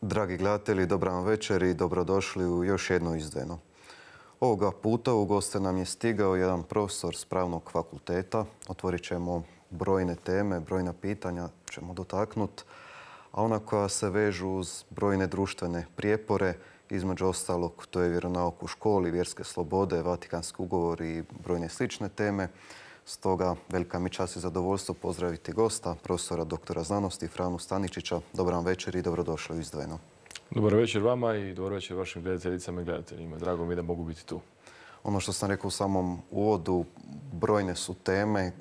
Dragi gledatelji, dobra vam večer i dobrodošli u još jedno izdvojeno. Ovoga puta u goste nam je stigao jedan profesor s pravnog fakulteta. Otvorit ćemo brojne teme, brojna pitanja ćemo dotaknuti, a ona koja se vežu uz brojne društvene prijepore, između ostalog to je vjeronauk u školi, vjerske slobode, Vatikanski ugovor i brojne slične teme. Stoga velika mi čast i zadovoljstvo pozdraviti gosta, profesora doktora znanosti Franu Staničića. Dobar vam večer i dobrodošli u izdvojeno. Dobar večer vama i dobar večer vašim gledateljicama i gledateljima. Drago mi je da mogu biti tu. Ono što sam rekao u samom uvodu, brojne su teme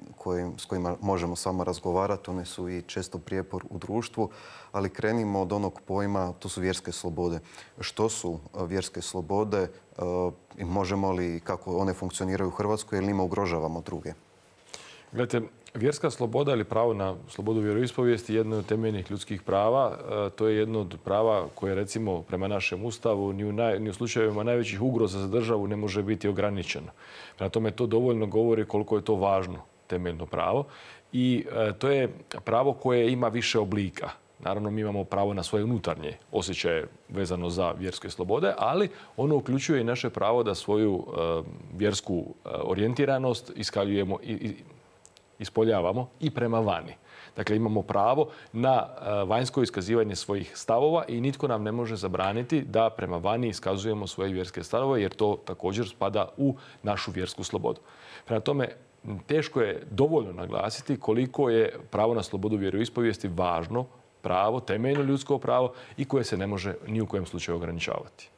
s kojima možemo samo razgovarati. One su i često prijepor u društvu, ali krenimo od onog pojma, to su vjerske slobode. Što su vjerske slobode i možemo li, kako one funkcioniraju u Hrvatskoj, jer njima ugrožavamo druge? Gledajte, vjerska sloboda ili pravo na slobodu vjeroispovijesti je jedno od temeljnih ljudskih prava. To je jedno od prava koje, recimo, prema našem Ustavu ni u slučajevima najvećih ugroza za državu ne može biti ograničeno. Prema tome, to dovoljno govori koliko je to važno temeljno pravo. I to je pravo koje ima više oblika. Naravno, mi imamo pravo na svoje unutarnje osjećaje vezano za vjerske slobode, ali ono uključuje i naše pravo da svoju vjersku orijentiranost iskaljujemo i ispoljavamo i prema vani. Dakle, imamo pravo na vanjsko iskazivanje svojih stavova i nitko nam ne može zabraniti da prema vani iskazujemo svoje vjerske stavove, jer to također spada u našu vjersku slobodu. Prema tome, teško je dovoljno naglasiti koliko je pravo na slobodu vjeroispovijesti važno pravo, temeljno ljudsko pravo i koje se ne može ni u kojem slučaju ograničavati.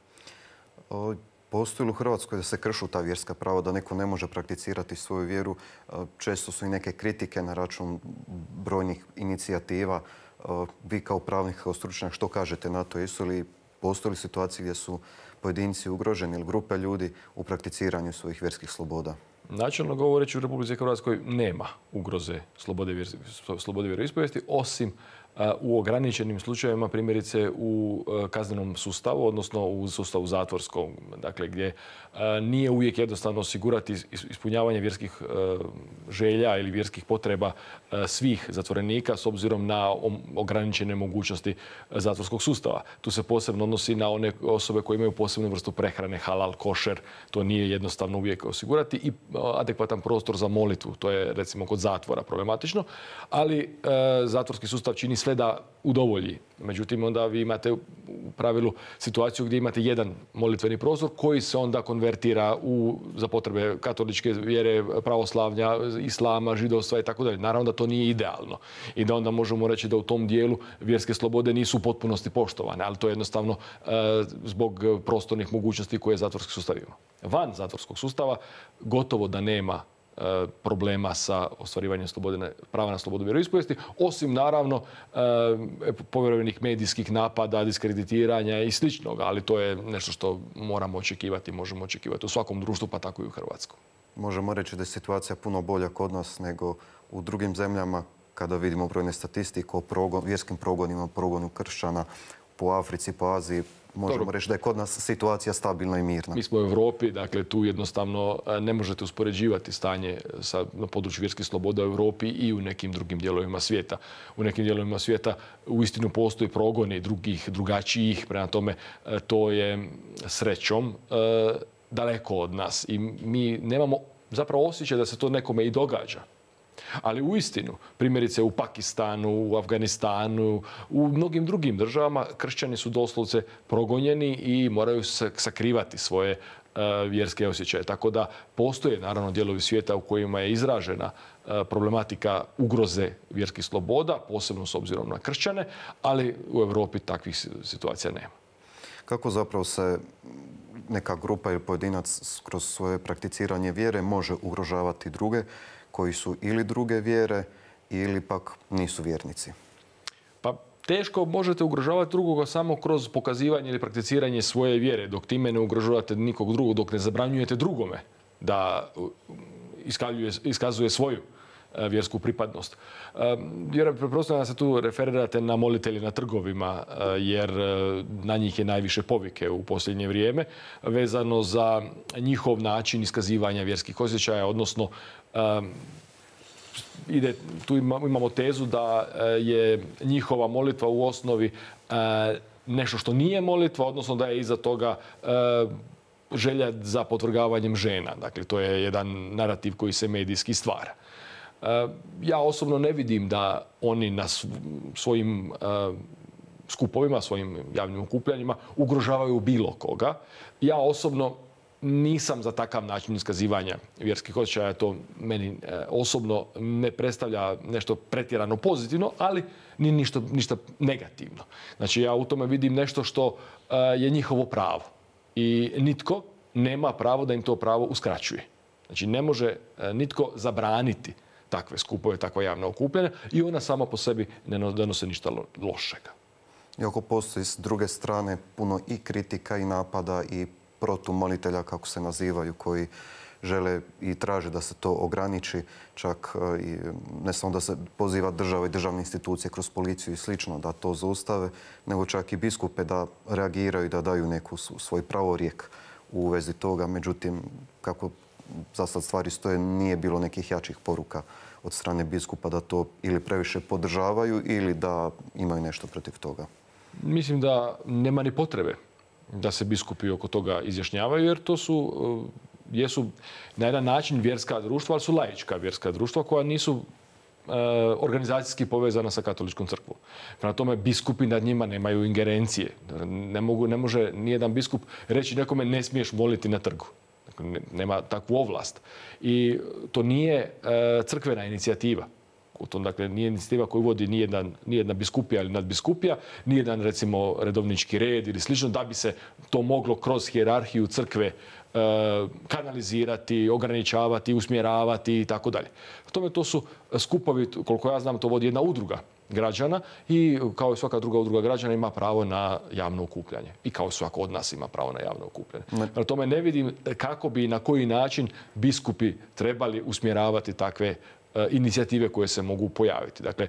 Postoji li u Hrvatskoj da se kršu ta vjerska prava, da neko ne može prakticirati svoju vjeru? Često su i neke kritike na račun brojnih inicijativa. Vi kao pravnik, kao stručnjak, što kažete na to? Postoji li situacije gdje su pojedinci ugroženi ili grupe ljudi u prakticiranju svojih vjerskih sloboda? Načelno govoreći, u Republici Hrvatskoj nema ugroze slobode vjeroispovijesti, osim u ograničenim slučajevima, primjerice u kaznenom sustavu, odnosno u sustavu zatvorskom, dakle gdje nije uvijek jednostavno osigurati ispunjavanje vjerskih želja ili vjerskih potreba svih zatvorenika s obzirom na ograničene mogućnosti zatvorskog sustava. Tu se posebno odnosi na one osobe koje imaju posebnu vrstu prehrane, halal, košer. To nije jednostavno uvijek osigurati i adekvatan prostor za molitvu. To je, recimo, kod zatvora problematično, ali zatvorski sustav čini sve da udovolji. Međutim, onda vi imate u pravilu situaciju gdje imate jedan molitveni prostor koji se onda konvertira za potrebe katoličke vjere, pravoslavlja, islama, židovstva i tako dalje. Naravno da to nije idealno i da onda možemo reći da u tom dijelu vjerske slobode nisu u potpunosti poštovane, ali to je jednostavno zbog prostornih mogućnosti koje zatvorski sustav ima. Van zatvorskog sustava gotovo da nema problema sa ostvarivanjem prava na slobodu vjeroispovijesti, osim naravno povjerenih medijskih napada, diskreditiranja i sličnog, ali to je nešto što moramo očekivati, možemo očekivati u svakom društvu, pa tako i u Hrvatskoj. Možemo reći da je situacija puno bolja kod nas nego u drugim zemljama, kada vidimo brojne statistike o vjerskim progonima, progonu kršćana po Africi, po Aziji. Možemo reći da je kod nas situacija stabilna i mirna. Mi smo u Europi, dakle tu jednostavno ne možete uspoređivati stanje na području vjerskih sloboda u Europi i u nekim drugim dijelovima svijeta. U nekim dijelovima svijeta uistinu postoji progoni drugačijih, prema tome to je srećom daleko od nas i mi nemamo zapravo osjećaj da se to nekome i događa. Ali uistinu, primjerice u Pakistanu, u Afganistanu, u mnogim drugim državama kršćani su doslovce progonjeni i moraju sakrivati svoje vjerske osjećaje. Tako da postoje naravno dijelovi svijeta u kojima je izražena problematika ugroze vjerskih sloboda, posebno s obzirom na kršćane, ali u Europi takvih situacija nema. Kako zapravo se neka grupa ili pojedinac kroz svoje prakticiranje vjere može ugrožavati druge koji su ili druge vjere ili pak nisu vjernici? Pa teško možete ugrožavati drugoga samo kroz pokazivanje ili prakticiranje svoje vjere, dok time ne ugrožavate nikog drugog, dok ne zabranjujete drugome da iskazuje svoju vjersku pripadnost. Pretpostavljam da se tu referirate na molitelje na trgovima, jer na njih je najviše povike u posljednje vrijeme, vezano za njihov način iskazivanja vjerskih osjećaja, odnosno tu imamo tezu da je njihova molitva u osnovi nešto što nije molitva, odnosno da je iza toga želja za potvrgavanjem žena. Dakle, to je jedan narativ koji se medijski stvara. Ja osobno ne vidim da oni na svojim skupovima, svojim javnim okupljanjima ugrožavaju bilo koga. Ja osobno nisam za takav način iskazivanja vjerskih osjećaja. To meni osobno ne predstavlja nešto pretjerano pozitivno, ali ni ništa negativno. Znači, ja u tome vidim nešto što je njihovo pravo. I nitko nema pravo da im to pravo uskraćuje. Znači, ne može nitko zabraniti takve skupove, takva javna okupljanja i ona sama po sebi ne donose ništa lošega. Iako postoji s druge strane puno i kritika i napada i protumolitelja, kako se nazivaju, koji žele i traže da se to ograniči, čak i ne samo da se poziva država i državne institucije kroz policiju i slično da to zaustave, nego čak i biskupe da reagiraju i da daju neku svoj pravorijek u vezi toga. Međutim, kako za sad stvari stoje, nije bilo nekih jačih poruka od strane biskupa da to ili previše podržavaju ili da imaju nešto protiv toga. Mislim da nema ni potrebe da se biskupi oko toga izjašnjavaju, jer to jesu na jedan način vjerska društva, ali su laička vjerska društva koja nisu organizacijski povezana sa katoličkom crkvom. Prema tome, biskupi nad njima nemaju ingerencije. Ne može nijedan biskup reći nekome ne smiješ moliti na trgu. Dakle, nema takvu ovlast. I to nije crkvena inicijativa. To, dakle, nije inicijativa koju vodi nijedna biskupija ili nadbiskupija, nijedan, recimo, redovnički red ili slično, da bi se to moglo kroz hijerarhiju crkve kanalizirati, ograničavati, usmjeravati i tako dalje. Tome to su skupovi, koliko ja znam, to vodi jedna udruga građana i kao i svaka druga udruga građana ima pravo na javno okupljanje. I kao svako od nas ima pravo na javno okupljanje. Prema tome ne vidim kako bi i na koji način biskupi trebali usmjeravati takve inicijative koje se mogu pojaviti. Dakle,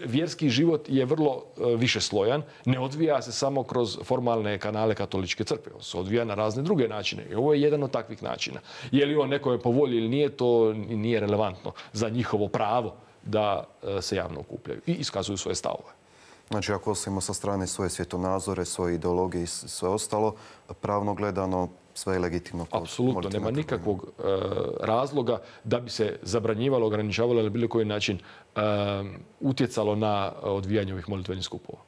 vjerski život je vrlo višeslojan, ne odvija se samo kroz formalne kanale katoličke crkve. On se odvija na razne druge načine. I ovo je jedan od takvih načina. Je li on nekome po volji ili nije, to nije relevantno za njihovo pravo da se javno okupljaju i iskazuju svoje stavove. Znači, ako ostavimo sa strane svoje svjetonazore, svoje ideologije i sve ostalo, pravno gledano, sve je legitimno. Apsolutno, nema nikakvog razloga da bi se zabranjivalo, ograničavalo ili na bilo koji način utjecalo na odvijanje ovih molitvenih skupova.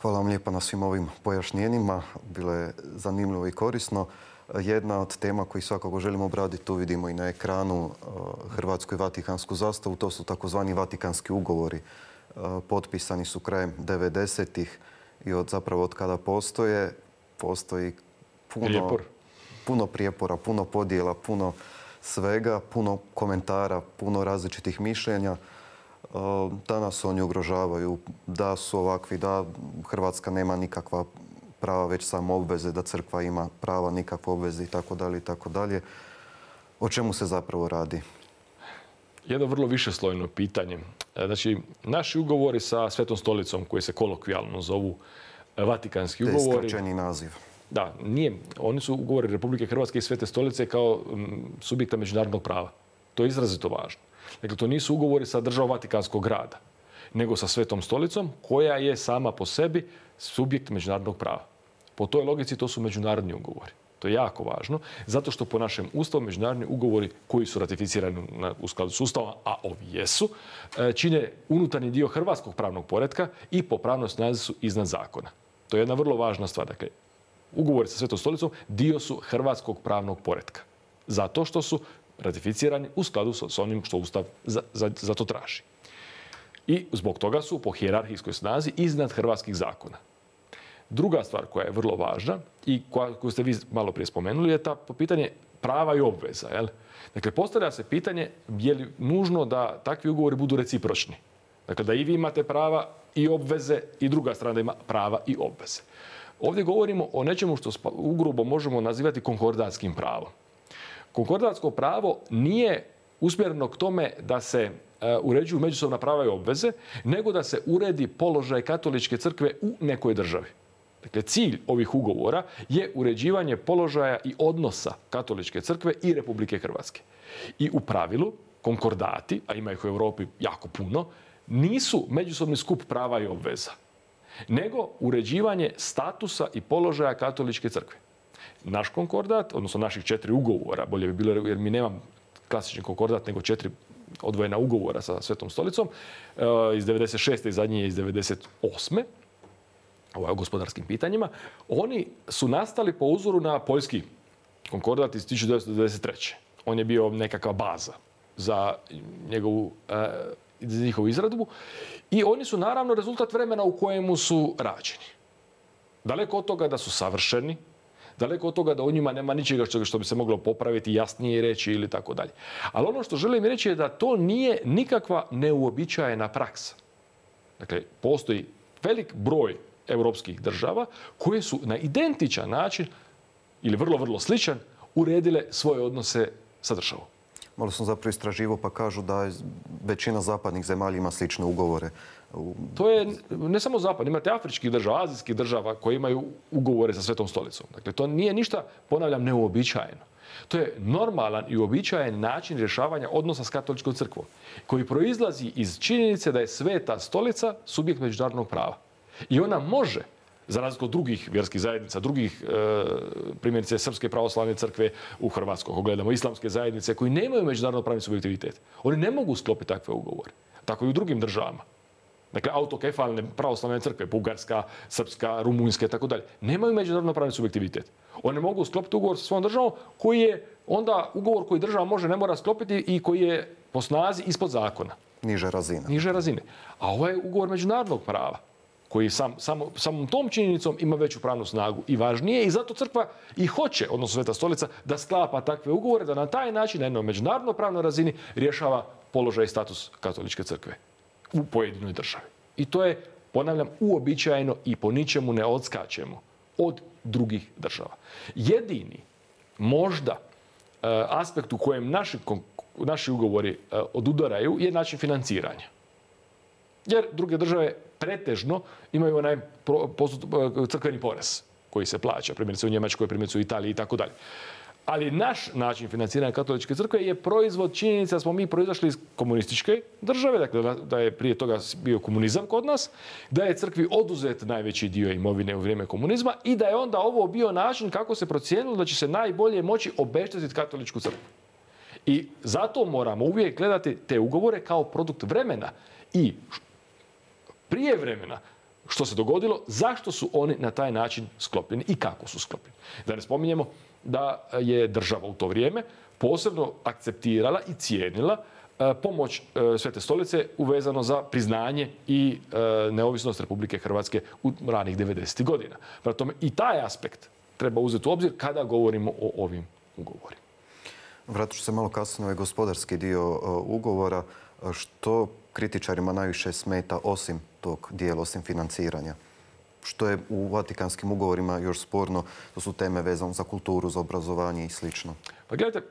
Hvala vam lijepa na svim ovim pojašnjenjima. Bilo je zanimljivo i korisno. Jedna od tema koju svakako želimo obraditi, tu vidimo i na ekranu hrvatsku i vatikansku zastavu, to su takozvani vatikanski ugovori. Potpisani su krajem 90-ih i od kada postoji puno prijepora, puno podjela, puno svega, puno komentara, puno različitih mišljenja. Danas oni ugrožavaju da su ovakvi, da Hrvatska nema nikakva prava, već samo obveze, da crkva ima prava, nikakve obveze i tako dalje i tako dalje. O čemu se zapravo radi? Jedno vrlo višeslojno pitanje. Znači, naši ugovori sa Svetom stolicom, koji se kolokvijalno zovu Vatikanski ugovori... To je skraćeni naziv. Da, nije. Oni su ugovori Republike Hrvatske i Svete stolice kao subjekta međunarodnog prava. To je izrazito važno. Dakle, to nisu ugovori sa državom Vatikanskog grada, nego sa Svetom stolicom, koja je sama po sebi subjekt međunarodnog prava. Po toj logici to su međunarodni ugovori. To je jako važno, zato što po našem Ustavu međunarodni ugovori koji su ratificirani u skladu s Ustavom, a ovi jesu, čine unutarnji dio hrvatskog pravnog poretka i po pravnoj snazi su iznad zakona. To je jedna vrlo važna stvar. Dakle, ugovori sa Svetom stolicom dio su hrvatskog pravnog poretka. Zato što su ratificirani u skladu s onim što Ustav za to traži. I zbog toga su po hijerarhijskoj snazi iznad hrvatskih zakona. Druga stvar koja je vrlo važna i koju ste vi malo prije spomenuli je ta pitanje prava i obveza. Jel? Dakle, postavlja se pitanje je li nužno da takvi ugovori budu recipročni. Dakle, da i vi imate prava i obveze i druga strana da ima prava i obveze. Ovdje govorimo o nečemu što ugrubo možemo nazivati konkordatskim pravom. Konkordatsko pravo nije usmjereno k tome da se uređuju međusobna prava i obveze, nego da se uredi položaj katoličke crkve u nekoj državi. Dakle, cilj ovih ugovora je uređivanje položaja i odnosa katoličke crkve i Republike Hrvatske. I u pravilu, konkordati, a ima ih u Europi jako puno, nisu međusobni skup prava i obveza, nego uređivanje statusa i položaja katoličke crkve. Naš konkordat, odnosno naših 4 ugovora, bolje bi bilo jer mi nemam klasični konkordat, nego 4 odvojena ugovora sa Svetom stolicom, iz 96. i zadnji je iz 98. O gospodarskim pitanjima, oni su nastali po uzoru na poljski konkordat iz 1993. On je bio nekakva baza za njihovu izradbu i oni su naravno rezultat vremena u kojemu su rađeni. Daleko od toga da su savršeni, daleko od toga da u njima nema ničega što bi se moglo popraviti, jasnije reći ili tako dalje. Ali ono što želim reći je da to nije nikakva neuobičajena praksa. Dakle, postoji velik broj europskih država koje su na identičan način ili vrlo, vrlo sličan uredile svoje odnose sa državom. Malo sam zapravo istraživao pa kažu da većina zapadnih zemalja ima slične ugovore. To je ne samo zapad, imate afričkih država, azijskih država koje imaju ugovore sa Svetom stolicom. Dakle, to nije ništa, ponavljam, neuobičajeno. To je normalan i uobičajen način rješavanja odnosa s katoličkom crkvom, koji proizlazi iz činjenice da je Sveta stolica subjekt međunarodnog prava. I ona može, za razliku od drugih vjerskih zajednica, drugih primjerice Srpske pravoslavne crkve u Hrvatskoj, ako gledamo islamske zajednice koji nemaju međunarodno pravni subjektivitet. Oni ne mogu sklopiti takve ugovore. Tako i u drugim državama. Dakle, autokefalne pravoslavne crkve, Bugarska, Srpska, Rumunjska i tako dalje, nemaju međunarodno pravni subjektivitet. One mogu sklopiti ugovor sa svojom državom koji je onda ugovor koji država može, ne mora sklopiti i koji je po snazi ispod zakona. Niže razine. Niže razine. A ovo je ugovor međunarodnog prava koji samom tom činjenicom ima veću pravnu snagu i važnije i zato crkva i hoće, odnosno Sveta stolica, da sklapa takve ugovore, da na taj način na jednoj međunarodno pravnoj razini rješava položaj i status katoličke crkve u pojedinoj državi. I to je, ponavljam, uobičajeno i po ničemu ne odskačemo od drugih država. Jedini, možda, aspekt u kojem naši ugovori odudaraju je način financiranja. Jer druge države pretežno imaju onaj crkveni porez koji se plaća, primjerice u Njemačkoj, primjerice u Italiji i tako dalje. Ali naš način financiranja katoličke crkve je proizvod činjenica da smo mi proizašli iz komunističke države, dakle da je prije toga bio komunizam kod nas, da je crkvi oduzet najveći dio imovine u vrijeme komunizma i da je onda ovo bio način kako se procijenilo da će se najbolje moći obeštetiti katoličku crkvu. I zato moramo uvijek gledati te ugovore kao produkt vremena i prije vremena što se dogodilo, zašto su oni na taj način sklopljeni i kako su sklopljeni. Da ne spominjemo da je država u to vrijeme posebno akceptirala i cijenila pomoć Svete stolice uvezano za priznanje i neovisnost Republike Hrvatske u ranih 90. godina. Prema tome i taj aspekt treba uzeti u obzir kada govorimo o ovim ugovorima. Vratit ću se malo kasnije na ovaj gospodarski dio ugovora. Što kritičarima najviše smeta osim tog dijela, osim financiranja? Što je u Vatikanskim ugovorima još sporno? To su teme vezane za kulturu, za obrazovanje i sl. Pa gledajte,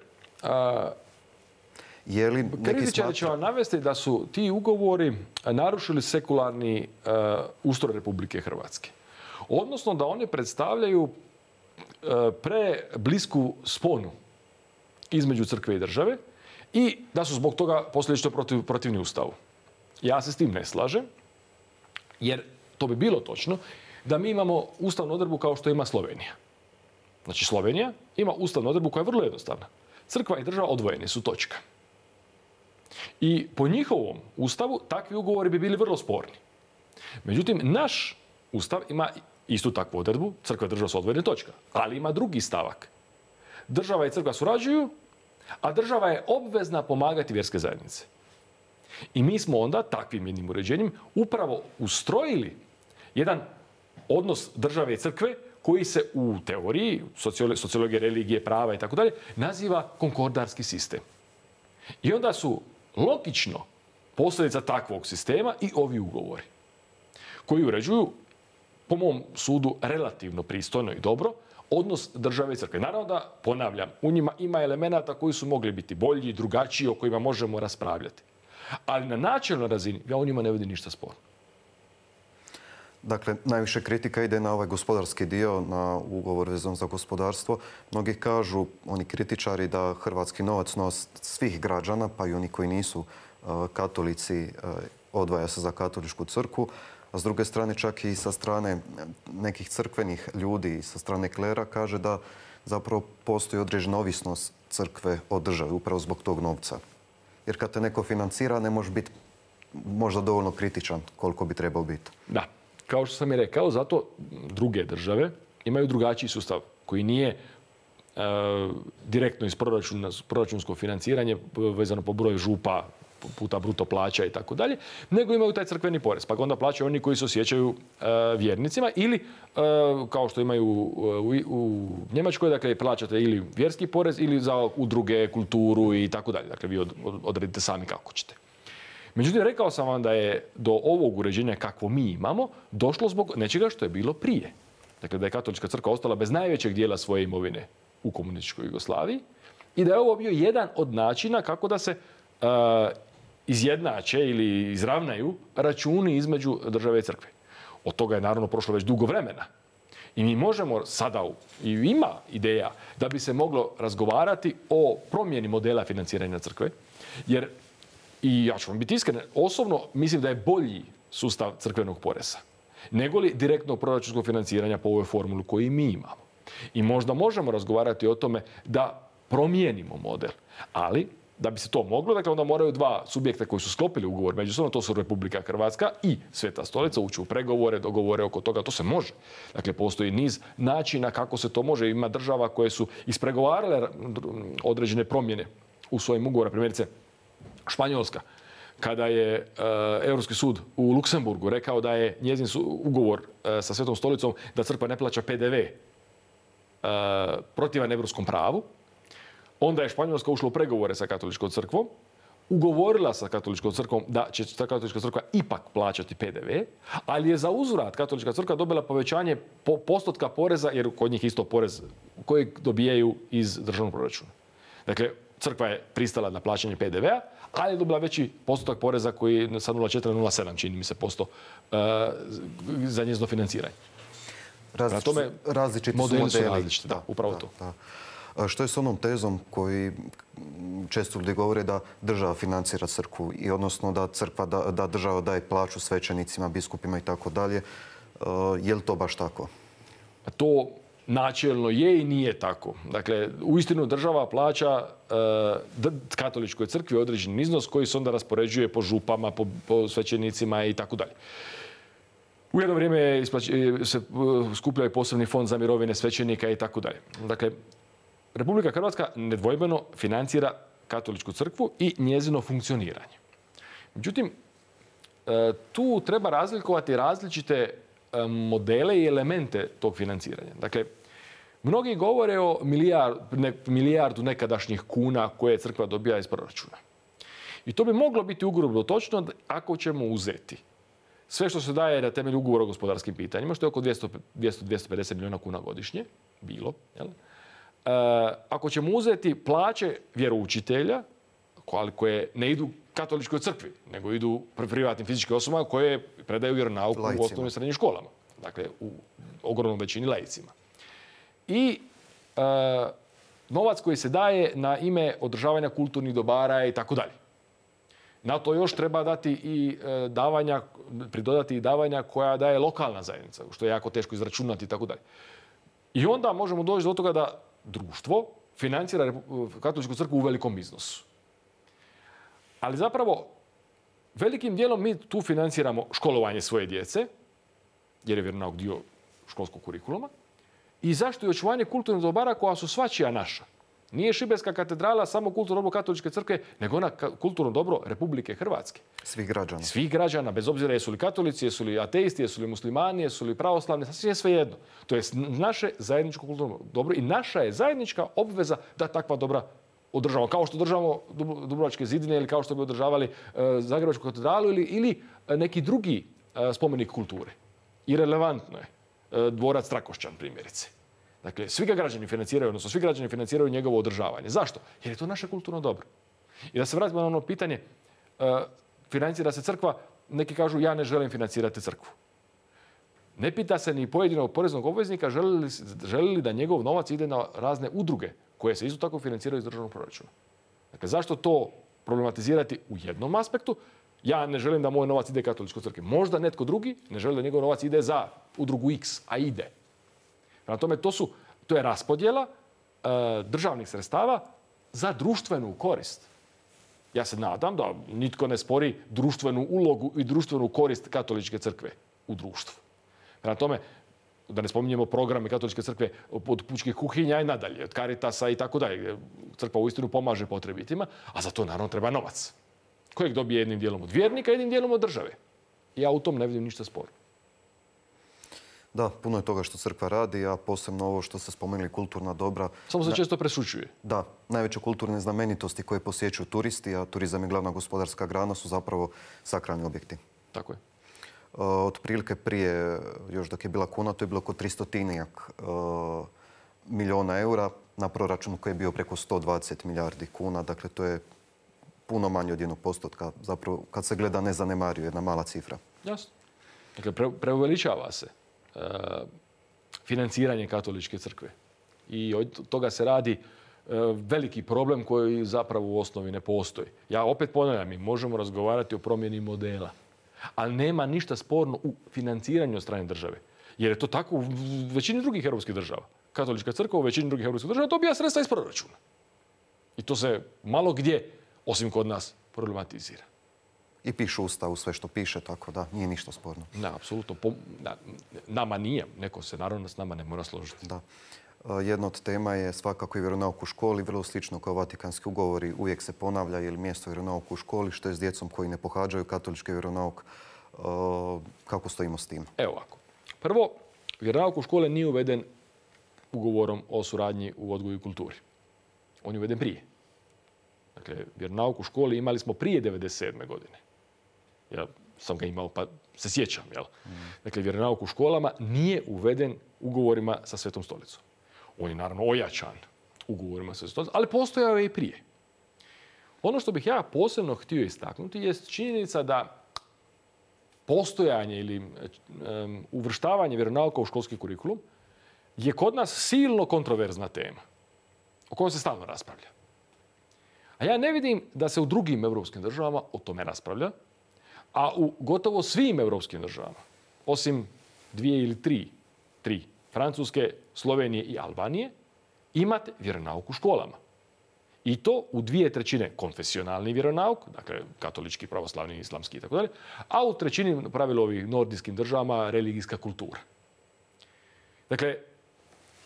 kritičari će vam navesti da su ti ugovori narušili sekularni ustroj Republike Hrvatske. Odnosno da oni predstavljaju preblisku sponu između crkve i države i da su zbog toga posljedično protivni Ustavu. Ja se s tim ne slažem, jer to bi bilo točno da mi imamo ustavnu odredbu kao što ima Slovenija. Znači, Slovenija ima ustavnu odredbu koja je vrlo jednostavna. Crkva i država odvojeni su, točka. I po njihovom ustavu takvi ugovori bi bili vrlo sporni. Međutim, naš ustav ima istu takvu odredbu, crkva i država su odvojene, točka. Ali ima drugi stavak. Država i crkva surađuju, a država je obvezna pomagati vjerske zajednice. I mi smo onda takvim jednim uređenjem upravo ustrojili jedan odnos države i crkve koji se u teoriji, sociologije, religije, prava i tako dalje, naziva konkordarski sistem. I onda su logično posljedica takvog sistema i ovi ugovori koji uređuju, po mom sudu, relativno pristojno i dobro odnos države i crkve. Naravno da, ponavljam, u njima ima elemenata koji su mogli biti bolji, drugačiji, o kojima možemo raspravljati. Ali na načelnoj razini ja u njima ne vidim ništa sporno. Dakle, najviše kritika ide na ovaj gospodarski dio, na ugovor vezan za gospodarstvo. Mnogi kažu, oni kritičari, da hrvatski novac svih građana, pa i oni koji nisu katolici, odvaja se za katoličku crkvu. a s druge strane čak i sa strane nekih crkvenih ljudi, sa strane klera, kaže da zapravo postoji određena ovisnost crkve od države, upravo zbog tog novca. Jer kad te neko financira, ne može biti možda dovoljno kritičan koliko bi trebao biti. Da, kao što sam i rekao, zato druge države imaju drugačiji sustav koji nije direktno iz proračunsko financiranje vezano po broju župa puta bruto plaća i tako dalje, nego imaju taj crkveni porez. Pa ga onda plaćaju oni koji se osjećaju vjernicima ili kao što imaju u Njemačkoj, dakle plaćate ili vjerski porez ili za udruge, kulturu i tako dalje. Dakle, vi odredite sami kako ćete. Međutim, rekao sam vam da je do ovog uređenja kakvo mi imamo došlo zbog nečega što je bilo prije. Dakle, da je Katolička crkva ostala bez najvećeg dijela svoje imovine u komunističkoj Jugoslaviji i da je ovo bio jedan od načina kako da se izjednače ili izravnaju računi između države i crkve. Od toga je naravno prošlo već dugo vremena. I mi možemo sada, i ima ideja, da bi se moglo razgovarati o promjeni modela financiranja crkve, jer, i ja ću vam biti iskren, osobno mislim da je bolji sustav crkvenog poreza nego li direktnog proračunskog financiranja po ovoj formuli koju mi imamo. I možda možemo razgovarati o tome da promijenimo model, ali da bi se to moglo, dakle onda moraju dva subjekta koji su sklopili ugovor međusobno, to su Republika Hrvatska i Sveta Stolica, ući u pregovore, dogovore oko toga, to se može. Dakle, postoji niz načina kako se to može. Ima država koje su ispregovarale određene promjene u svojim ugovorima, primjerice Španjolska, kada je Europski sud u Luksemburgu rekao da je njezin ugovor sa Svetom Stolicom da crkva ne plaća PDV protivan europskom pravu, onda je Španjolska ušla u pregovore sa Katoličkom crkvom, ugovorila sa Katoličkom crkvom da će ta Katolička crkva ipak plaćati PDV, ali je za uzvrat Katolička crkva dobila povećanje postotka poreza, jer kod njih isto porez koji dobijaju iz državnog proračuna. Dakle, crkva je pristala na plaćanje PDV-a, ali je dobila veći postotak poreza koji je sa 0,4 na 0,7, čini mi se, posto za njezino financiranje. Različiti modeli su modeli. Različiti, da, upravo to. Da. Što je s onom tezom koji često ljudi govore da država financira crkvu i odnosno da crkva, da država daje plaću svećenicima, biskupima i tako dalje? Je li to baš tako? To načelno je i nije tako. Dakle, uistinu država plaća Katoličkoj crkvi određeni iznos koji se onda raspoređuje po župama, po svećenicima i tako dalje. U jedno vrijeme se skupljaju posebni fond za mirovine svećenika i tako dalje. Dakle, Republika Hrvatska nedvojbeno financira Katoličku crkvu i njezino funkcioniranje. Međutim, tu treba razlikovati različite modele i elemente tog financiranja. Dakle, mnogi govore o milijardu nekadašnjih kuna koje crkva dobija iz proračuna. I to bi moglo biti ugrubo točno ako ćemo uzeti sve što se daje na temelju ugovora o gospodarskim pitanjima, što je oko 200-250 milijuna kuna godišnje, bilo. Jel? Ako ćemo uzeti plaće vjeroučitelja, koje ne idu Katoličkoj crkvi, nego idu privatnim fizičkim osobama koje predaju vjeronauk u osnovnim i srednjim školama. Dakle, u ogromnom većini laicima. I novac koji se daje na ime održavanja kulturnih dobara i tako dalje. Na to još treba dati i pridodati i davanja koja daje lokalna zajednica, što je jako teško izračunati i tako dalje. I onda možemo doći do toga da društvo financira Katoličku crkvu u velikom iznosu. Ali zapravo, velikim dijelom mi tu financiramo školovanje svoje djece, jer je vjeronauk dio školskog kurikuluma, i zaštitu i očuvanje kulturnih dobara koja su svačija naša. Nije Šibenska katedrala samo kulturno dobro Katoličke crkve, nego ona kulturno dobro Republike Hrvatske. Svih građana. Svih građana, bez obzira jesu li katolici, jesu li ateisti, jesu li muslimani, jesu li pravoslavni, sasvim je svejedno. To je naše zajedničko kulturno dobro i naša je zajednička obveza da takva dobra održavamo. Kao što održavamo Dubrovačke zidine ili kao što bi održavali Zagrebačku katedralu ili neki drugi spomenik kulture. I relevantno je dvorac Trakošćan, primjerice. Dakle, svi ga građani financiraju, odnosno svi građani financiraju njegovo održavanje. Zašto? Jer je to naše kulturno dobro. I da se vratimo na ono pitanje, financira se crkva, neki kažu ja ne želim financirati crkvu. Ne pita se ni pojedinog poreznog obveznika želi li da njegov novac ide na razne udruge koje se isto tako financiraju iz državnog proračuna. Dakle, zašto to problematizirati u jednom aspektu? Ja ne želim da moj novac ide katoličkoj crkvi. Možda netko drugi ne želi da njegov novac ide za udrugu X, a ide. Prema tome, to je raspodjela državnih sredstava za društvenu korist. Ja se nadam da nitko ne spori društvenu ulogu i društvenu korist katoličke crkve u društvu. Prema tome, da ne spominjemo programe katoličke crkve od pučkih kuhinja i nadalje, od Caritasa i tako dalje. Crkva uistinu pomaže potrebitima, a za to naravno treba novac. Kojeg dobije jednim dijelom od vjernika, jednim dijelom od države. Ja u tom ne vidim ništa sporno. Da, puno je toga što crkva radi, a posebno ovo što ste spomenuli, kulturna dobra. Samo se često prešućuje. Da, najveće kulturne znamenitosti koje posjećuju turisti, a turizam je glavna gospodarska grana, su zapravo sakralni objekti. Tako je. Otprilike prije, još dok je bila kuna, to je bilo oko 300-tinjak milijuna eura na proračunu koji je bio preko 120 milijardi kuna. Dakle, to je puno manje od 1%. Zapravo, kad se gleda, ne zanemaruje, jedna mala cifra. Jasno. Dakle, preuveličava se financiranje katoličke crkve. I od toga se radi veliki problem koji zapravo u osnovi ne postoji. Ja opet ponavljam, mi možemo razgovarati o promjeni modela, ali nema ništa sporno u financiranju od strane države. Jer je to tako u većini drugih europskih država. Katolička crkva u većini drugih europskih država dobija sredstva iz proračuna. I to se malo gdje, osim kod nas, problematizira. I piše u Ustavu sve što piše, tako da nije ništa sporno. Da, apsolutno. Nama nije. Neko se naravno s nama ne mora složiti. Da. Jedna od tema je svakako i vjeronauk u školi, vrlo slično kao Vatikanski ugovori. Uvijek se ponavlja je li mjesto vjeronauka u školi, što je s djecom koji ne pohađaju katolički vjeronauk. Kako stojimo s tim? Evo ovako. Prvo, vjeronauk u škole nije uveden ugovorom o suradnji u odgoju i kulturi. On je uveden prije. Dakle, vjeronauk u školi imali smo prije 1997. godine. Ja sam ga imao pa se sjećam. Jel? Dakle, vjeronauk u školama nije uveden ugovorima sa Svetom stolicom. On je naravno ojačan ugovorima sa Svetom stolicom, ali postojao je i prije. Ono što bih ja posebno htio istaknuti je činjenica da postojanje ili uvrštavanje vjeronauka u školski kurikulum je kod nas silno kontroverzna tema o kojoj se stalno raspravlja. A ja ne vidim da se u drugim europskim državama o tome raspravlja, a u gotovo svim europskim državama, osim 2 ili 3, Francuske, Slovenije i Albanije, imate vjeronauk u školama. I to u 2/3 konfesionalni vjeronauk, dakle katolički, pravoslavni, islamski itd., a u 1/3 pravilu ovih nordijskim državama religijska kultura. Dakle,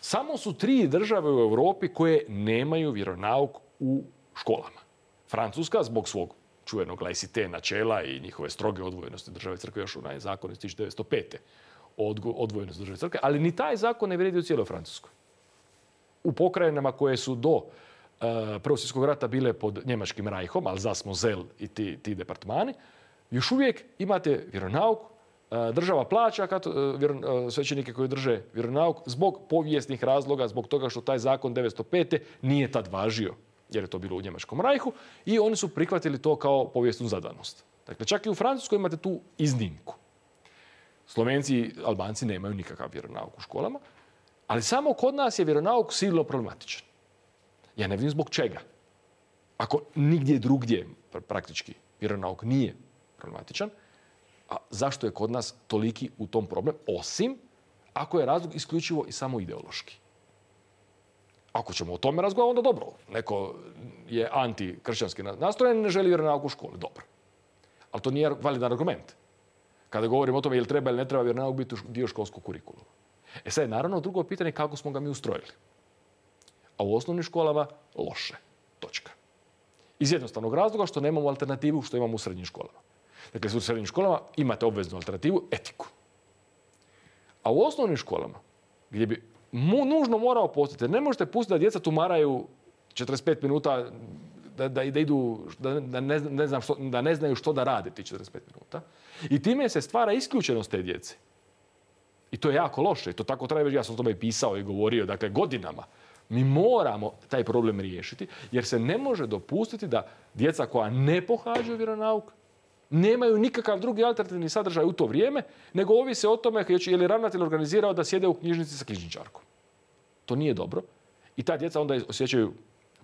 samo su 3 države u Europi koje nemaju vjeronauk u školama. Francuska zbog svog čuvenog laicite načela i njihove stroge odvojenosti države crkve, još onaj zakon iz 1905. o odvojenosti države crkve, ali ni taj zakon ne vrijedi u cijeloj Francuskoj. U pokrajinama koje su do Prvog svjetskog rata bile pod njemačkim rajhom, Alsace-Moselle i ti departmani, još uvijek imate vjeronauk, država plaća svećenike koji drže vjeronauk zbog povijesnih razloga, zbog toga što taj zakon 1905. nije tad važio, jer je to bilo u njemačkom rajhu, i oni su prihvatili to kao povijesnu zadanost. Dakle, čak i u Francuskoj imate tu iznimku. Slovenci i Albanci nemaju nikakav vjeronauk u školama, ali samo kod nas je vjeronauk silno problematičan. Ja ne vidim zbog čega. Ako nigdje drugdje praktički vjeronauk nije problematičan, a zašto je kod nas toliki u tom problem, osim ako je razlog isključivo i samo ideološki. Ako ćemo o tome razgovarati, onda dobro. Neko je antikršćanski nastrojen i ne želi vjeronauk u školi. Dobro. Ali to nije validan argument. Kada govorimo o tome je li treba ili ne treba vjeronauk biti dio školskog kurikuluma. Sad je naravno drugo pitanje kako smo ga mi ustrojili. A u osnovnim školama loše. Točka. Iz jednostavnog razloga što nemamo alternativu što imamo u srednjim školama. Dakle, u srednjim školama imate obveznu alternativu, etiku. A u osnovnim školama, gdje bi nužno morao postati, jer ne možete pustiti da djeca tumaraju 45 minuta, da ne znaju što da rade ti 45 minuta. I time se stvara isključenost te djece. I to je jako loše. I to tako treba, ja sam o tome pisao i govorio, dakle, godinama. Mi moramo taj problem riješiti, jer se ne može dopustiti da djeca koja ne pohađaju vjeronauk nemaju nikakav drugi alternativni sadržaj u to vrijeme, nego ovise o tome je li ravnatelj organizirao da sjede u knjižnici sa knjižničarkom. To nije dobro. I ta djeca onda osjećaju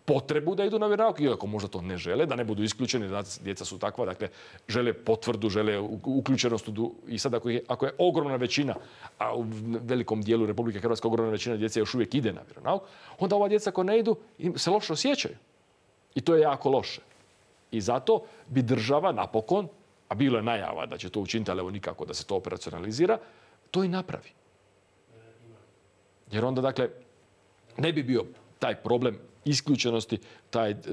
potrebu da idu na vjeronauk, iako možda to ne žele, da ne budu isključeni, da djeca su takva, dakle, žele potvrdu, žele uključenost i sad ako je ogromna većina, a u velikom dijelu Republike Hrvatske ogromna većina djece još uvijek ide na vjeronauk, onda ova djeca koja ne idu se loše osjećaju. I to je jako loše. I zato bi država napokon, a bilo je najava da će to učiniti, ali evo nikako da se to operacionalizira, to i napravi. Jer onda, dakle, ne bi bio taj problem isključenosti,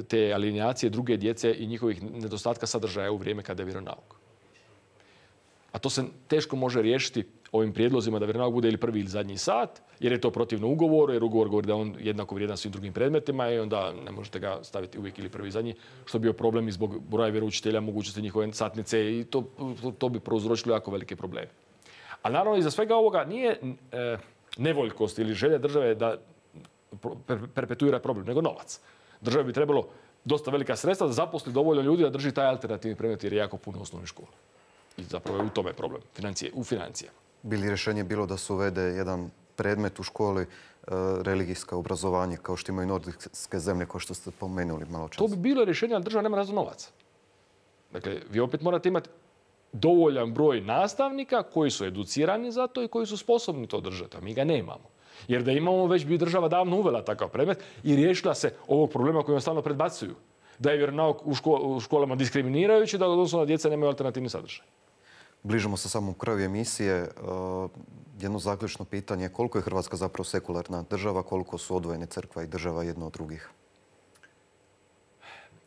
te alineacije druge djece i njihovih nedostatka sadržaja u vrijeme kada je vjeronauk. A to se teško može riješiti ovim prijedlozima da vjeronauk bude ili prvi ili zadnji sat, jer je to protivno ugovoru, jer ugovor govori da on jednako vrijedan svim drugim predmetima i onda ne možete ga staviti uvijek ili prvi i zadnji, što bi bio problem i zbog broja vjeroučitelja, mogućnosti njihove satnice i to bi prouzročilo jako velike probleme. A naravno iza svega ovoga nije nevoljkost ili želja države da perpetuira problem, nego novac. Državi bi trebalo dosta velika sredstva da zaposli dovoljno ljudi da drži taj alternativni predmet jer je jako puno osnovnih škola. I zapravo je u tome problem, u financijama. Bi li rješenje bilo da se uvede jedan predmet u školi, religijsko obrazovanje, kao što imaju nordijske zemlje, kao što ste pomenuli malo čas? To bi bilo rješenje, ali država nema razno novaca. Dakle, vi opet morate imati dovoljan broj nastavnika koji su educirani za to i koji su sposobni to držati, a mi ga nemamo. Jer da imamo, već bi država davno uvela takav predmet i riješila se ovog problema koji vam stalno predbacuju. Da je vjeronauk u školama diskriminirajući, da odnosno djeca nemaju alternativni sadržaj. Bližimo se samom kraju emisije. Jedno zaključno pitanje. Koliko je Hrvatska zapravo sekularna država, koliko su odvojene crkva i država jedno od drugih?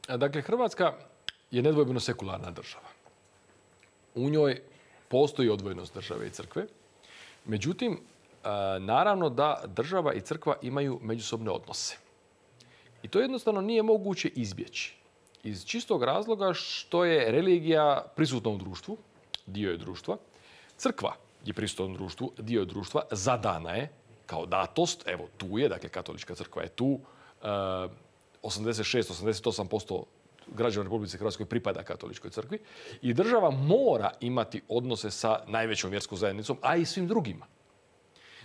Dakle, Hrvatska je nedvojbeno sekularna država. U njoj postoji odvojenost države i crkve. Međutim, naravno da država i crkva imaju međusobne odnose. I to jednostavno nije moguće izbjeći. Iz čistog razloga što je religija prisutna u društvu, dio je društva. Crkva je prisutna u društvu, dio je društva, zadana je kao datost. Evo, tu je, dakle, katolička crkva je tu. 86-88% građana Republike Hrvatskoj pripada katoličkoj crkvi. I država mora imati odnose sa najvećom vjerskom zajednicom, a i svim drugima.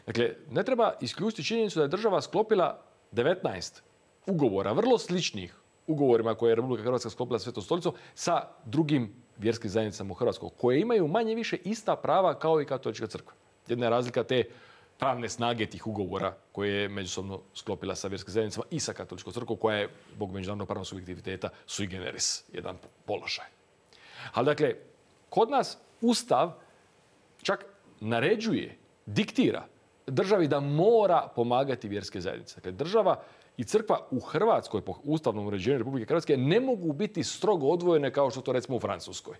Dakle, ne treba isključiti činjenicu da je država sklopila 19 ugovora, vrlo sličnih ugovorima koje je Republika Hrvatska sklopila sa Svetom stolicom, sa drugim vjerskim zajednicama u Hrvatskoj, koje imaju manje više ista prava kao i katolička crkva. Jedna je razlika te pravne snage tih ugovora koje je međusobno sklopila sa vjerskim zajednicama i sa katoličkom crkvom, koja je, zbog međunarodnog pravnog subjektiviteta, sui generis, jedan položaj. Ali, dakle, kod nas Ustav čak naređuje, diktira državi da mora pomagati vjerske zajednice. Dakle, država i crkva u Hrvatskoj, po ustavnom uređenju Republike Hrvatske, ne mogu biti strogo odvojene kao što to recimo u Francuskoj.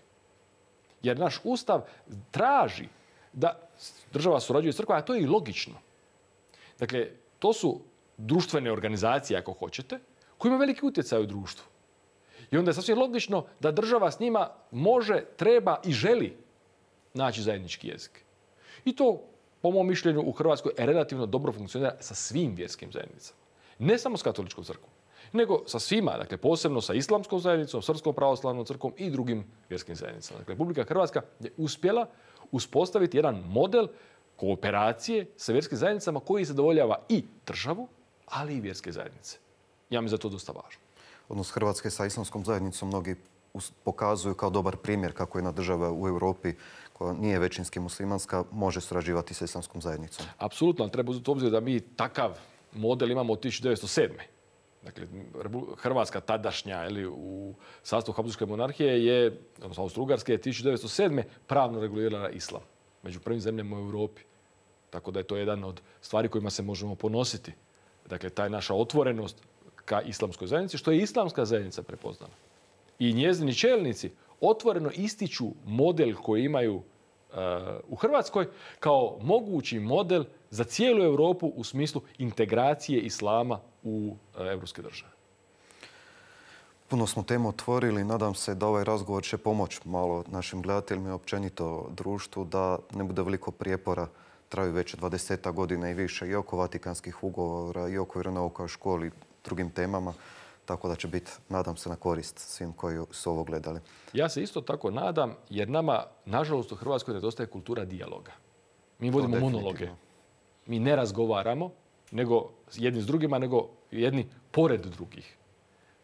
Jer naš Ustav traži da država surađuje s crkvom, a to je i logično. Dakle, to su društvene organizacije, ako hoćete, koje imaju veliki utjecaj u društvu. I onda je sasvim logično da država s njima može, treba i želi naći zajednički jezik. I to, po mom mišljenju, u Hrvatskoj relativno dobro funkcionira sa svim vjerskim zajednicama. Ne samo s katoličkom crkvom, nego sa svima, dakle posebno sa islamskom zajednicom, srpskom pravoslavnom crkvom i drugim vjerskim zajednicama. Dakle, Republika Hrvatska je uspjela uspostaviti jedan model kooperacije sa vjerskim zajednicama koji zadovoljava i državu, ali i vjerske zajednice. Ja mi za to dosta važno. Odnos Hrvatske sa islamskom zajednicom mnogi pokazuju kao dobar primjer kako jedna država u Europi koja nije većinski muslimanska može surađivati sa islamskom zajednicom. Apsolutno, ali treba uzeti u obzir da mi takav model imamo od 1907. Dakle, Hrvatska tadašnja u sastavu Habsburške monarhije je, odnosno Austro-Ugarske, je 1907. pravno regulirala islam. Među prvim zemljama u Europi. Tako da je to jedan od stvari kojima se možemo ponositi. Dakle, taj naša otvorenost ka islamskoj zajednici, što je islamska zajednica prepoznala. I njezini čelnici otvoreno ističu model koji imaju u Hrvatskoj kao mogući model za cijelu Europu u smislu integracije islama u evropske države. Puno smo temu otvorili. Nadam se da ovaj razgovor će pomoći malo našim gledateljima i općenito društvu da ne bude veliko prijepora. Traju već 20 godina i više i oko vatikanskih ugovora i oko vjeronauka u školi i drugim temama. Tako da će biti, nadam se, na korist svim koji su ovo gledali. Ja se isto tako nadam, jer nama, nažalost, u Hrvatskoj nedostaje kultura dijaloga. Mi vodimo monologe. Mi ne razgovaramo nego jedni s drugima, nego jedni pored drugih.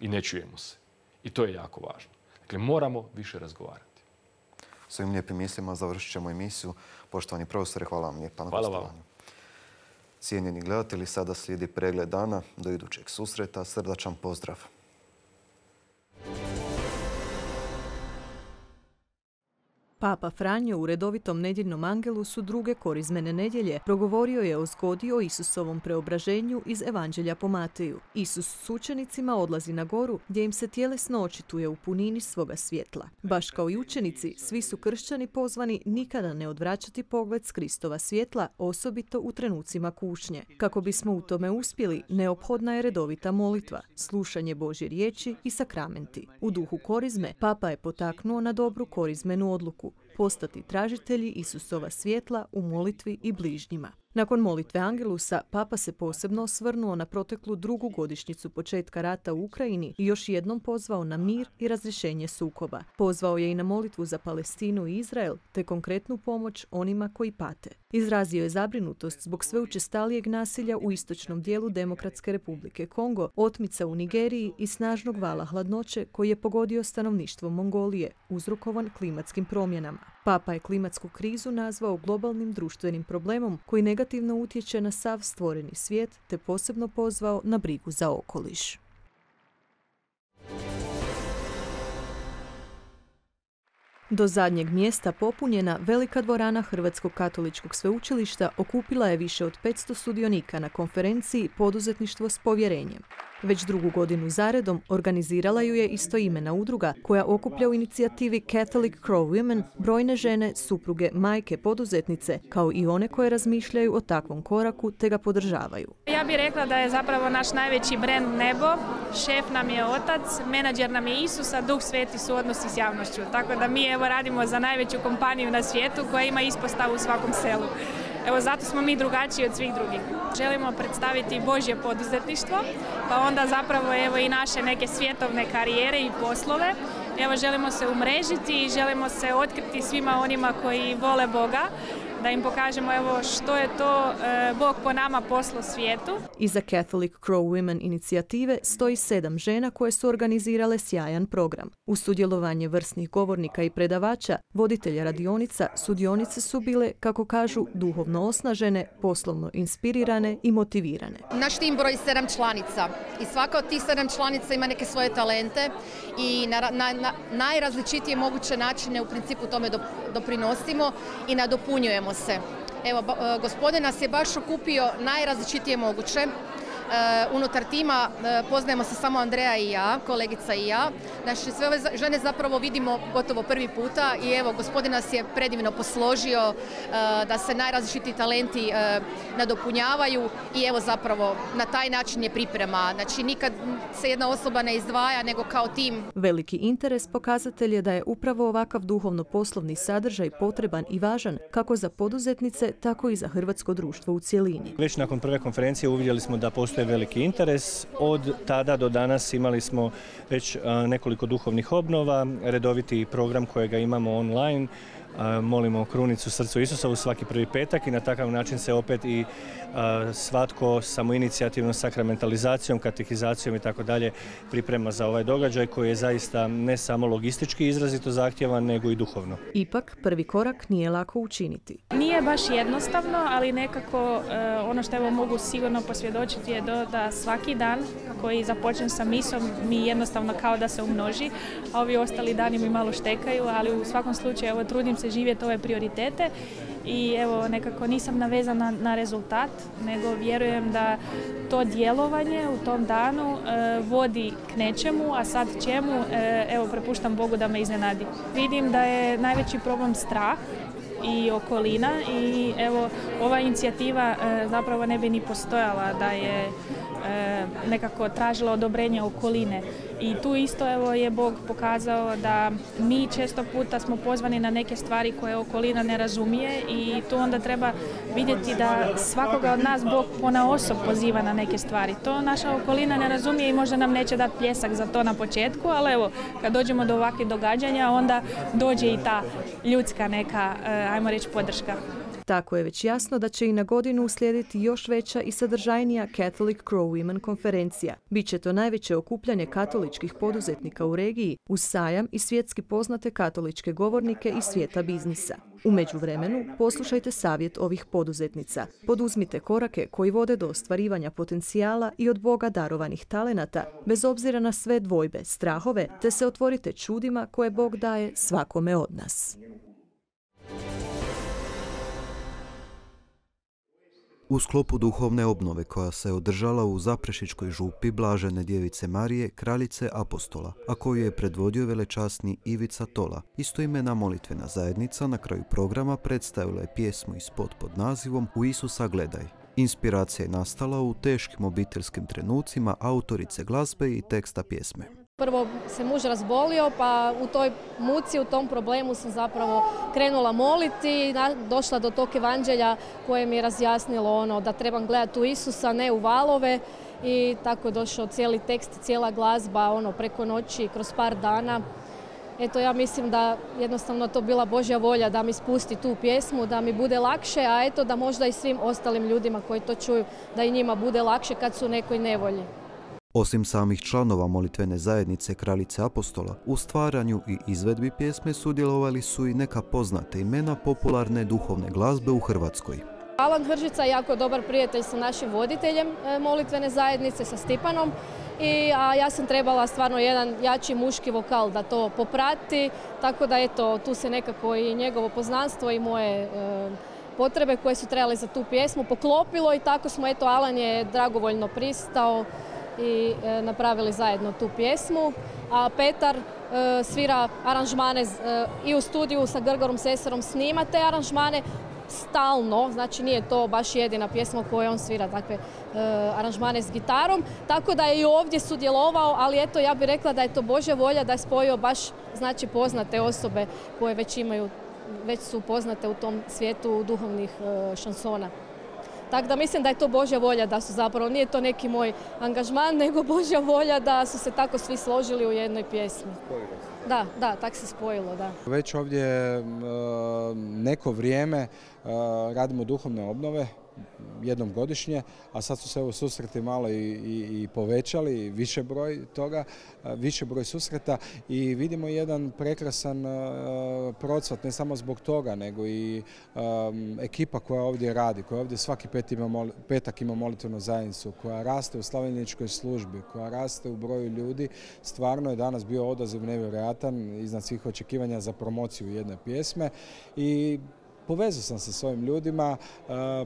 i ne čujemo se. I to je jako važno. Dakle, moramo više razgovarati. S ovim lijepim mislima završit ćemo emisiju. Poštovani profesore, hvala vam lijepa na gostovanju. Cijenjeni gledatelji, sada slijedi pregled dana. Do idućeg susreta, srdačan pozdrav. Papa Franjo u redovitom nedjeljnom angelusu druge korizmene nedjelje progovorio je o zgodi o Isusovom preobraženju iz Evanđelja po Mateju. Isus s učenicima odlazi na goru gdje im se tjelesno očituje u punini svoga svjetla. Baš kao i učenici, svi su kršćani pozvani nikada ne odvraćati pogled s Kristova svjetla, osobito u trenucima kušnje. Kako bismo u tome uspjeli, neophodna je redovita molitva, slušanje Božje riječi i sakramenti. U duhu korizme, Papa je potaknuo na dobru korizmenu odluku postati tražitelji Isusova svjetla u molitvi i bližnjima. Nakon molitve Angelusa, Papa se posebno osvrnuo na proteklu drugu godišnjicu početka rata u Ukrajini i još jednom pozvao na mir i razrješenje sukoba. Pozvao je i na molitvu za Palestinu i Izrael, te konkretnu pomoć onima koji pate. Izrazio je zabrinutost zbog sve učestalijeg nasilja u istočnom dijelu Demokratske republike Kongo, otmica u Nigeriji i snažnog vala hladnoće koji je pogodio stanovništvo Mongolije, uzrokovan klimatskim promjenama. Papa je klimatsku krizu nazvao globalnim društvenim problemom koji negativno utječe na sav stvoreni svijet, te posebno pozvao na brigu za okoliš. Do zadnjeg mjesta popunjena velika dvorana Hrvatskog katoličkog sveučilišta okupila je više od 500 sudionika na konferenciji Poduzetništvo s povjerenjem. Već drugu godinu zaredom organizirala ju je istoimena udruga koja okuplja u inicijativi Catholic Crow Women brojne žene, supruge, majke, poduzetnice, kao i one koje razmišljaju o takvom koraku te ga podržavaju. Ja bih rekla da je zapravo naš najveći brend nebo, šef nam je Otac, menadžer nam je Isus, a Duh Sveti su odnosi s javnošću. Tako da mi evo radimo za najveću kompaniju na svijetu koja ima ispostavu u svakom selu. Evo zato smo mi drugačiji od svih drugih. Želimo predstaviti Božje poduzetništvo, pa onda zapravo evo i naše neke svjetovne karijere i poslove. Evo želimo se umrežiti i želimo se otkriti svima onima koji vole Boga, da im pokažemo evo što je to Bog po nama poslao svijetu. Iza Catholic Crow Women inicijative stoji 7 žena koje su organizirale sjajan program. Uz sudjelovanje vrsnih govornika i predavača, voditelja radionica, sudionice su bile, kako kažu, duhovno osnažene, poslovno inspirirane i motivirane. Naš tim broji 7 članica i svaka od tih 7 članica ima neke svoje talente i na najrazličitije moguće načine u principu tome doprinosimo i nadopunjujemo se. Evo, gospodin nas je baš okupio najrazličitije moguće. Unutar tima poznajemo se samo Andreja i ja, kolegica i ja. Znači, sve ove žene zapravo vidimo gotovo prvi puta i evo, gospodin nas je predivno posložio da se najrazličitiji talenti nadopunjavaju i evo zapravo na taj način je priprema. Znači, nikad se jedna osoba ne izdvaja nego kao tim. Veliki interes pokazatelj je da je upravo ovakav duhovno-poslovni sadržaj potreban i važan kako za poduzetnice, tako i za hrvatsko društvo u cjelini. Već nakon prve konferencije uvidjeli smo da postoji veliki interes. Od tada do danas imali smo već nekoliko duhovnih obnova, redoviti program kojega imamo online. Molimo krunicu srcu Isusa u svaki prvi petak i na takav način se opet i svatko samoinicijativnom sakramentalizacijom, katehizacijom i tako dalje priprema za ovaj događaj koji je zaista ne samo logistički izrazito zahtjevan, nego i duhovno. Ipak, prvi korak nije lako učiniti. Nije baš jednostavno, ali nekako ono što evo mogu sigurno posvjedočiti je da svaki dan koji započnem sa misom mi jednostavno kao da se umnoži, a ovi ostali dani mi malo štekaju, ali u svakom slučaju evo trudim se živjeti ove prioritete i evo nekako nisam navezana na rezultat, nego vjerujem da to djelovanje u tom danu vodi k nečemu, a sad čemu, evo prepuštam Bogu da me iznenadi. Vidim da je najveći problem strah i okolina i evo ova inicijativa zapravo ne bi ni postojala da je nekako tražila odobrenje okoline. I tu isto evo je Bog pokazao da mi često puta smo pozvani na neke stvari koje okolina ne razumije i tu onda treba vidjeti da svakoga od nas Bog ponaosob poziva na neke stvari. To naša okolina ne razumije i možda nam neće dati pljesak za to na početku, ali evo kad dođemo do ovakvih događanja onda dođe i ta ljudska neka, ajmo reći, podrška. Tako je već jasno da će i na godinu uslijediti još veća i sadržajnija Catholic Crow Women konferencija. Biće to najveće okupljanje katoličkih poduzetnika u regiji uz sajam i svjetski poznate katoličke govornike iz svijeta biznisa. U međuvremenu poslušajte savjet ovih poduzetnica. Poduzmite korake koji vode do ostvarivanja potencijala i od Boga darovanih talenata, bez obzira na sve dvojbe, strahove, te se otvorite čudima koje Bog daje svakome od nas. U sklopu duhovne obnove koja se održala u Zaprešićkoj župi Blažene djevice Marije, kraljice apostola, a koju je predvodio velečasni Ivica Tola, istoimena molitvena zajednica na kraju programa predstavila je pjesmu i spot pod nazivom U Isusa gledaj. Inspiracija je nastala u teškim obiteljskim trenucima autorice glazbe i teksta pjesme. Prvo se muž razbolio, pa u toj muci, u tom problemu sam zapravo krenula moliti, došla do tog evanđelja koje mi je razjasnilo da trebam gledati u Isusa, ne u valove, i tako je došao cijeli tekst, cijela glazba preko noći, kroz par dana. Eto, ja mislim da jednostavno to bila Božja volja da mi spusti tu pjesmu, da mi bude lakše, a eto da možda i svim ostalim ljudima koji to čuju, da i njima bude lakše kad su u nekoj nevolji. Osim samih članova molitvene zajednice Kraljice apostola, u stvaranju i izvedbi pjesme sudjelovali su i neka poznata imena popularne duhovne glazbe u Hrvatskoj. Alan Hržica je jako dobar prijatelj sa našim voditeljem molitvene zajednice, sa Stipanom, a ja sam trebala stvarno jedan jači muški vokal da to poprati, tako da eto, tu se nekako i njegovo poznanstvo i moje potrebe koje su trebale za tu pjesmu poklopilo i tako smo, eto, Alan je dragovoljno pristao i napravili zajedno tu pjesmu, a Petar svira aranžmane i u studiju sa Grgorom Sesarom, snima te aranžmane stalno, znači nije to baš jedina pjesma koju on svira takve aranžmane s gitarom, tako da je i ovdje sudjelovao, ali eto, ja bih rekla da je to Božja volja da je spojio baš, znači, poznate osobe koje već su poznate u tom svijetu duhovnih šansona. Tako da mislim da je to Božja volja, da su zapravo, nije to neki moj angažman, nego Božja volja da su se tako svi složili u jednoj pjesmi. Da, tako se spojilo, da. Već ovdje neko vrijeme radimo duhovne obnove, jednom godišnje, a sad su se evo susreti malo i povećali, više broj toga, više broj susreta i vidimo jedan prekrasan procvat, ne samo zbog toga, nego i ekipa koja ovdje radi, koja ovdje svaki petak ima molitvenu zajednicu, koja raste u slavljeničkoj službi, koja raste u broju ljudi. Stvarno je danas bio odaziv nevjerojatan, iznad svih očekivanja za promociju jedne pjesme i povezao sam se s ovim ljudima,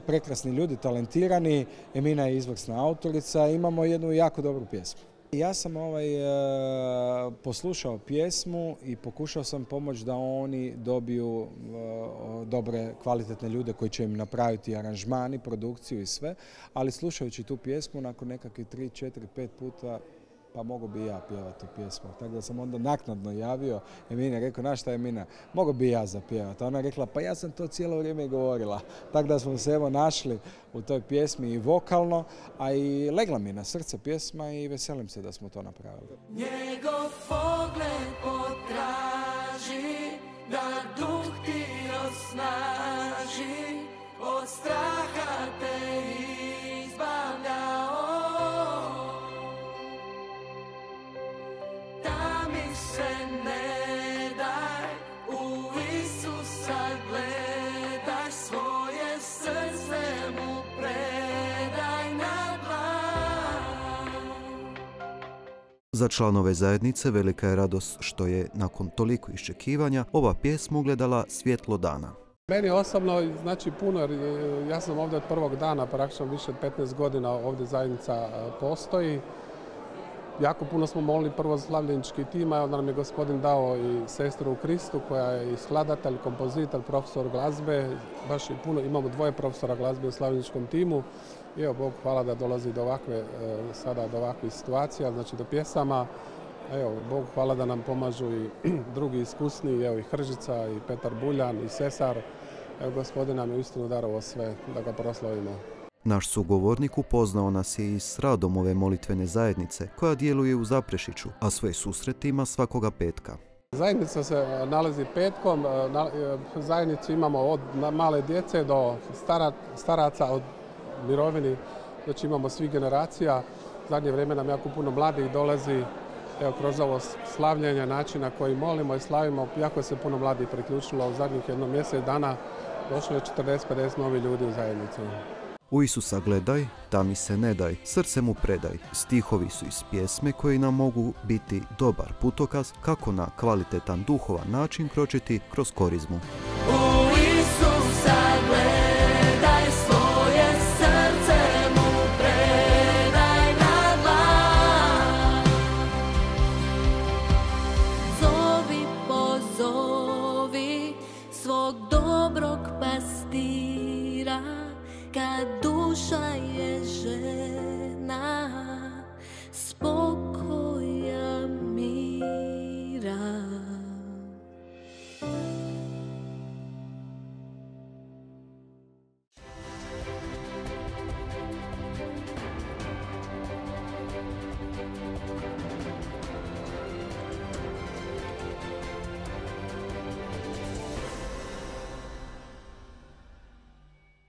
prekrasni ljudi, talentirani, Emina je izvrsna autorica, imamo jednu jako dobru pjesmu. Ja sam poslušao pjesmu i pokušao sam pomoći da oni dobiju dobre, kvalitetne ljude koji će im napraviti aranžmani, produkciju i sve, ali slušajući tu pjesmu nakon nekakvih 3, 4, 5 puta pa mogu bi ja pjevati tu pjesmu. Tako da sam onda naknadno javio Emine, rekao, znaš šta Emina, mogu bi ja zapjevati. A ona je rekla, pa ja sam to cijelo vrijeme govorila. Tako da smo se evo našli u toj pjesmi i vokalno, a i legla mi na srce pjesma i veselim se da smo to napravili. Njegov pogled potraži, da duh ti osnaži, od straha te izbavlja. Se ne daj, u Isusa gledaj, svoje srce mu predaj na dlan. Za članove zajednice velika je radost što je, nakon toliko iščekivanja, ova pjesma ugledala svjetlo dana. Meni osobno znači puno, jer ja sam ovdje od prvog dana, praktično više od 15 godina ovdje zajednica postoji. Jako puno smo molili prvo za slavljenički tim, a onda nam je gospodin dao i sestru u Kristu koja je i skladatelj, kompozitor, profesor glazbe. Baš i puno, imamo 2 profesora glazbe u slavljeničkom timu. I evo, Bog hvala da dolazi do ovakvih situacija, znači do pjesama. Evo, Bog hvala da nam pomažu i drugi iskusni, evo i Hržica, i Petar Buljan, i Sesar. Evo, gospodin nam je uistinu darovao sve da ga proslavimo. Naš sugovornik upoznao nas je i s radom ove molitvene zajednice koja djeluje u Zaprešiću, a svoje susrete ima svakoga petka. Zajednica se nalazi petkom, zajednicu imamo od male djece do staraca, od mirovini, znači imamo svih generacija. Zadnje vrijeme nam jako puno mladih dolazi, evo kroz ovo slavljenje, načina koji molimo i slavimo, jako se puno mladih priključilo. U zadnjih jedno mjesec dana došlo je 40-50 novi ljudi u zajednicu. U Isusa gledaj, da mi se ne daj, srce mu predaj. Stihovi su iz pjesme koji nam mogu biti dobar putokaz kako na kvalitetan duhovan način kročiti kroz korizmu. U Isusa gledaj, svoje srce mu predaj na dlan. Zovi, pozovi svog dobrog pastira, kad duša je žena.